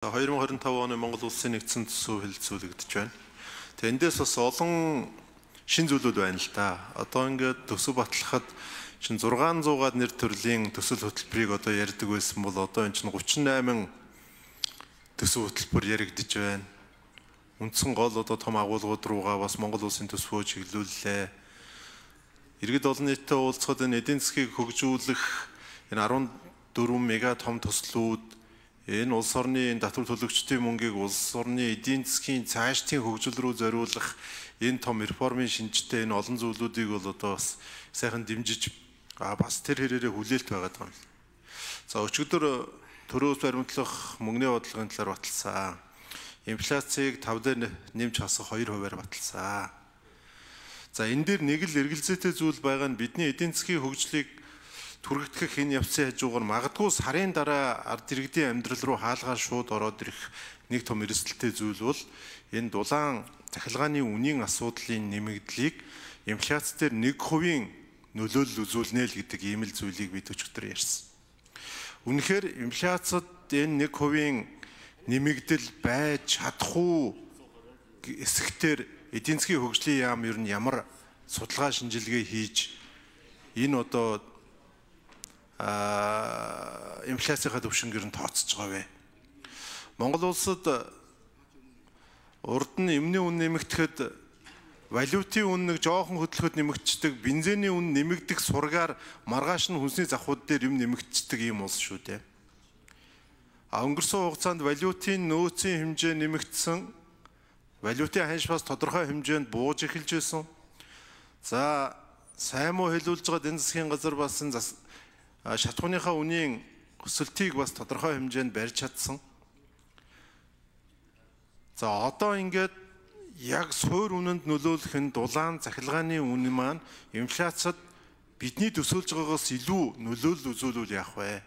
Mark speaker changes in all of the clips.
Speaker 1: 2025 оны Монгол Улсын нэгдсэн төсөв хэлэлцүүлэгдэж байна. Тэгээ эндээс бас олон шин зүйлүүд байна л да. Одоо ингээд төсөв батлахад чинь 600-аад нэр төрлийн төсөл хөтөлбөрийг одоо ярьдаг байсан бол одоо энэ чинь 38 төсөв хөтөлбөр яригдж байна. Үндсэн гол одоо том агуулгууд руугаа бас Монгол Улсын төсвөө чиглүүллээ. Иргэд олон нийтэд уулзахад энэ эдийн засгийг хөгжүүлэх энэ 14 мега том төслүүд энэ улс орны татвар төлөгчдийн мөнгийг улс орны эдийн засгийн цаашдын хөгжил рүү зориулах энэ том реформын шинжтэй энэ олон зүйлүүдийг бол одоо бас сайхан дэмжиж бас тэр хэрээрээ хүлээлт байгаад байгаа юм. За өчигдөр төрөөс баримтлах мөнгөний бодлогын талаар баталсан. Инфляцийг 5 дээр нэмж хасах 2%-аар баталсан. За энэ дээр нэг л эргэлзээтэй зүйл байгаа нь бидний эдийн засгийн хөгжлийг түргэгдэх энэ явцын хажуугаар магадгүй сарын дараа ард иргэдийн амьдрал руу хаалгаар шууд ороод ирэх нэг том эрсдэлтэй зүйл бол энэ дулаан захилгааны үнийн асуудлын нэмэгдлийг инфляц дээр 1% нөлөөлөл үзүүлнэ л гэдэг ийм л зүйлийг бид өчигдөр ярьсан. Үнэхээр инфляцид энэ 1% нэмэгдэл байж чадах уу эсэхтэр эдийн засгийн хөгжлийн яам ер нь ямар судалгаа шинжилгээ хийж энэ одоо инфляцийн төвшингээр нь тооцож байгаа вэ? Монгол улсад урд нь эмний үн нэмэгдэхэд валютын үн нэг жоохон хөдөлгөхөд нэмэгддэг, бензиний үн нэмэгдэх сургаар маргааш нь хүнсний завхууд дээр юм нэмэгддэг юм улс шүү дээ. Өнгөрсөн хугацаанд валютын нөөцийн хэмжээ нэмэгдсэн, валютын ханш бас тодорхой хэмжээнд бууж эхэлж байсан. За сайн муу хэлүүлж байгаа эдийн засгийн газар бас энэ шатхууныхаа үнийн өсөлтийг бас тодорхой хэмжээнд барьж чадсан. За одоо ингээд яг суур үнэнд нөлөөлөх нь дулаан захилгааны үн маань инфляцид бидний төсөөлж байгаагаас илүү нөлөөлөл үзүүлвэл яах вэ?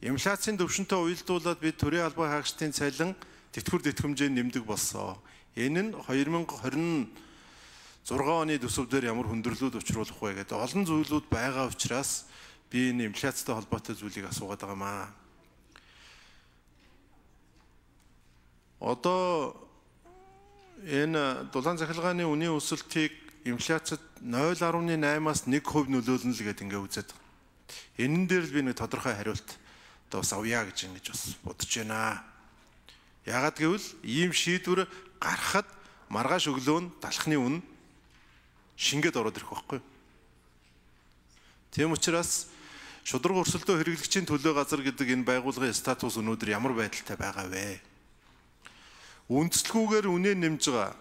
Speaker 1: Инфляцийн төвшөнтэй уялдуулаад бид төрийн албан хаагчдын цалин тэтгэвэр тэтгэмжээ нэмдэг болсон. Энэ нь 2026 оны төсөв дээр ямар хүндрэлүүд учруулах вэ гэдэг олон зүйлүүд байгаа учраас би энэ инфляцтай холбоотой зүйлийг асуугаад байгаа юм аа. Одоо энэ дулаан захилгааны үнийн өсөлтийг инфляцид 0.8-аас 1% нөлөөлнө л гэдэг ингээ үзээд байгаа. Энэн дээр л би нэг тодорхой хариулт одоо бас авъя гэж ингэж бас бодож байна. Яагаад гэвэл ийм шийдвэр гарахад маргааш өглөө нь талхны үн шингээд ороод ирэх байхгүй. Тийм учраас шударга өрсөлдөө хэрэглэгчийн төлөө газар гэдэг энэ байгууллагын статус өнөөдөр ямар байдалтай байгаа вэ? Үндэслэгүүгээр үнэ нэмж байгаа.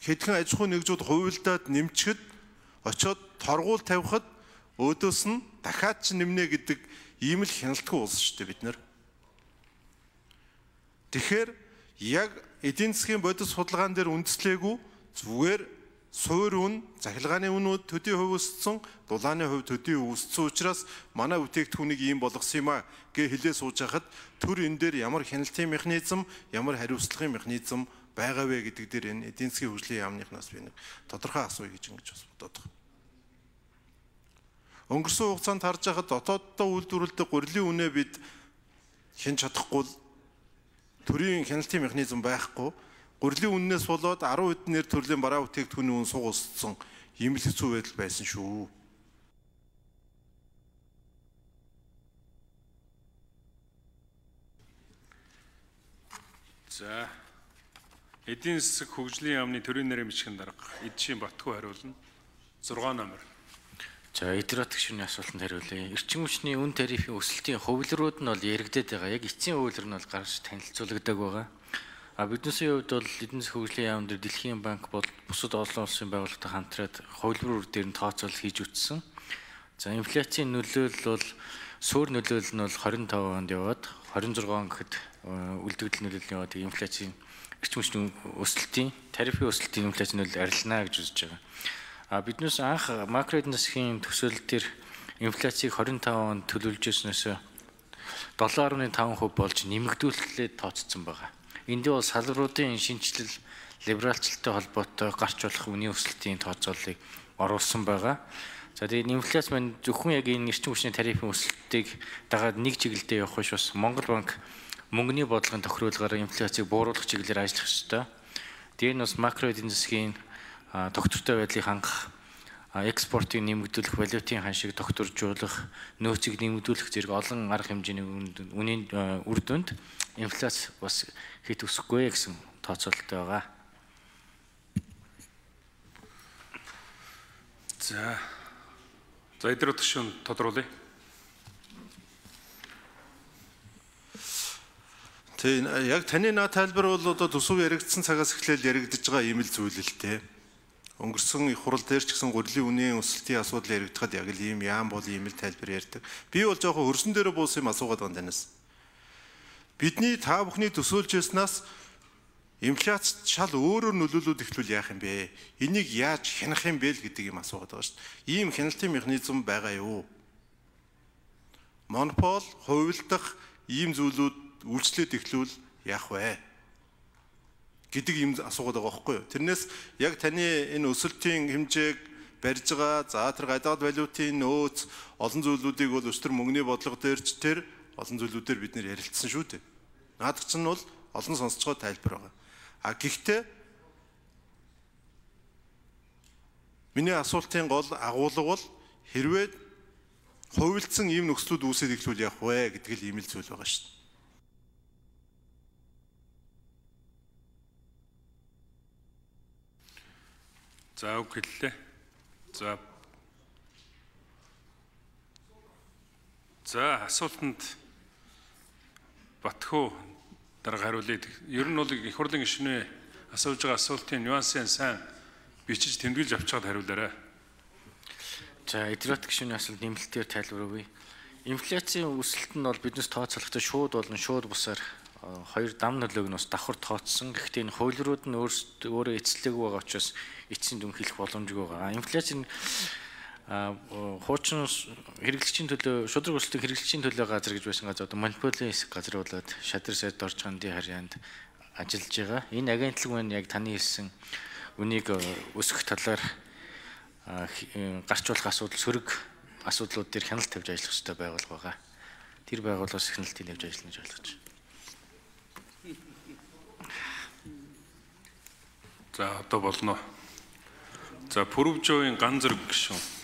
Speaker 1: Хэдхэн аж ахуйн нэгжүүд хувилдаад нэмчихэд очиод торгуул тавихад өөдөөс нь дахиад ч нэмнэ гэдэг ийм л хяналтгүй улс шүү дээ бид нар. Тэгэхээр яг эдийн засгийн бодис судалгаан дээр үндэслээгүй зүгээр суур үн, захилгааны үнүүд төдий хувь өссөн, дулааны хувь төдий өссөн учраас манай бүтээгдэхүүнийг ийм болгосон юм а гэж хэлээ сууж хахад төр энэ дээр ямар хяналтын механизм, ямар хариуцлагын механизм байгаа вэ гэдэг дээр энэ эдийн засгийн хөгжлийн яамныхнаас би нэг тодорхой асууя гэж ингэж бас бодоод байна. Өнгөрсөн хугацаанд харж байхад дотооддоо үйлдвэрлэдэг гурилын үнэ бид хянж чадахгүй, төрийн хяналтын механизм байхгүй. Гурилын үннээс болоод 10 хэдэн нэр төрлийн бараа бүтээгдэхүүний үн суг өссөн ийм л хэцүү байдал байсан шүү.
Speaker 2: За эдийн засаг хөгжлийн яамны төрийн нэрийн бичгийн дарга Эдшийн Батгүй хариулна. 6 номер.
Speaker 3: За эдгээр гишүүний асуултанд хариулъя. Эрчим хүчний үн тарифын өсөлтийн хувилрууд нь бол яригдээд байгаа. Яг эцсийн хувилар нь бол гарч танилцуулагддаг байгаа. Биднээсийн хувьд бол эдийн засгийн хөгжлийн яам дээр Дэлхийн банк бол бусад олон улсын байгууллагатай хамтраад хувилбар дээр нь тооцоолол хийж үтсэн. За инфляцийн нөлөөлөл бол суур нөлөөлөл нь бол 25 онд яваад 26 он гэхэд үлдэгдэл нөлөөлөл яваад инфляцийн эрчим хүчний өсөлтийн тарифын өсөлтийн инфляцийн нөлөөлөл арилнаа гэж үзэж байгаа. Биднээс анх макро эдийн засгийн төсөөлөл дээр инфляцийг 25 онд төлөвлөж ирснээс 7.5% болж нэмэгдүүлэлт тооцсон байгаа. Энд бол салбаруудын шинжилэл либералчлалтай холбоотой гарч болох үнийн өсөлтийн тооцооллыг оруулсан байгаа. За тэгээд инфляц маань зөвхөн яг энэ эрчим хүчний тарифын өсөлтийг дагаад нэг чиглэлдээ явах биш бас Монгол банк мөнгөний бодлогын тохируулгаар инфляцийг бууруулах чиглэлээр ажиллах ёстой. Тэр нь бас макро эдийн засгийн тогтвортой байдлыг хангах, экспортыг нэмэгдүүлэх, валютын ханшийг тогтворжуулах, нөөцийг нэмэгдүүлэх зэрэг олон арга хэмжээний үнийн үр дүнд инфляц бас хэд өсөхгүй гэсэн тооцоололтой байгаа.
Speaker 2: За эдгээр төшөө тодруулъя.
Speaker 1: Тийм яг таны наад тайлбар бол одоо төсөв яригдсан цагаас эхлээл яригдж байгаа ийм л зүйл л дээ. Өнгөрсөн их хурал дээр ч гэсэн гурилын үнийн өсөлтийн асуудал яригдахад яг л ийм яам бол ийм л тайлбар ярьдаг. Би бол жоохон хөрсөн дээрээ буусан юм асуугаад байна танаас. Бидний та бүхний төсөөлж яснаас инфляц шал өөрөөр нөлөөлөд эхлүүл яах юм бэ? Энийг яаж хянах юм бэ л гэдэг юм асуугаад байгаа шүү дээ. Ийм хяналтын механизм байгаа юу? Монопол, хувилдах ийм зүйлүүд үйлчлээд эхлүүл яах вэ? Гэдэг юм асуугаад байгаа байхгүй юу? Тэрнээс яг таны энэ өсөлтийн хэмжээг барьж байгаа, за тэр гадаад валютын нөөц, олон зүйлүүдийг бол өстөр мөнгөний бодлого дээрч тэр олон зүйлүүдээр бид нэр ярилцсан шүү дээ. Наадах чинь бол олон сонсцгоо тайлбар байгаа. Гэхдээ миний асуултын гол агуулга бол хэрвээ хувилдсан ийм нөхцлүүд үүсээд эхлүүл явах вэ гэдэг л ийм л зүйл байгаа шүү дээ.
Speaker 2: За үг хэллээ. За асуултанд Батхуу дарга хариулъя. Ер нь бол их хурлын гишүүнээ асууж байгаа асуултын нюансыг сайн бичиж тэмдэглэж авчгаад хариулаарай.
Speaker 3: За эдгээр гишүүний асуулт нэмэлтээр тайлбар өгье. Инфляцийн өсөлт нь бол биднес тооцоолохдоо шууд болон шууд бусаар хоёр дам нөлөөг нь бас давхар тооцсон. Гэхдээ энэ хуулиуд нь өөрөө эцэлээгүй байгаа учраас эцсийн дүн хэлэх боломжгүй байгаа. Инфляцийн хуучин хэрэглэгчийн төлөө шудраг өсөлтөнд хэрэглэгчийн төлөө газар гэж байсан газар одоо монополийн хэсэг газар болоод шадар сайд орж ганди харьяанд ажиллаж байгаа. Энэ агентлаг маань яг таны хэлсэн үнийг өсгөх талаар гарч болох сөрөг асуудлууд дээр хяналт тавьж ажиллах хэрэгтэй байгуулга байгаа. Тэр байгууллагаас хяналтыг тавьж ажиллана гэж ойлгож байна.
Speaker 2: За одоо болно. За Пүрвжовын Ган зэрэг гишүүн.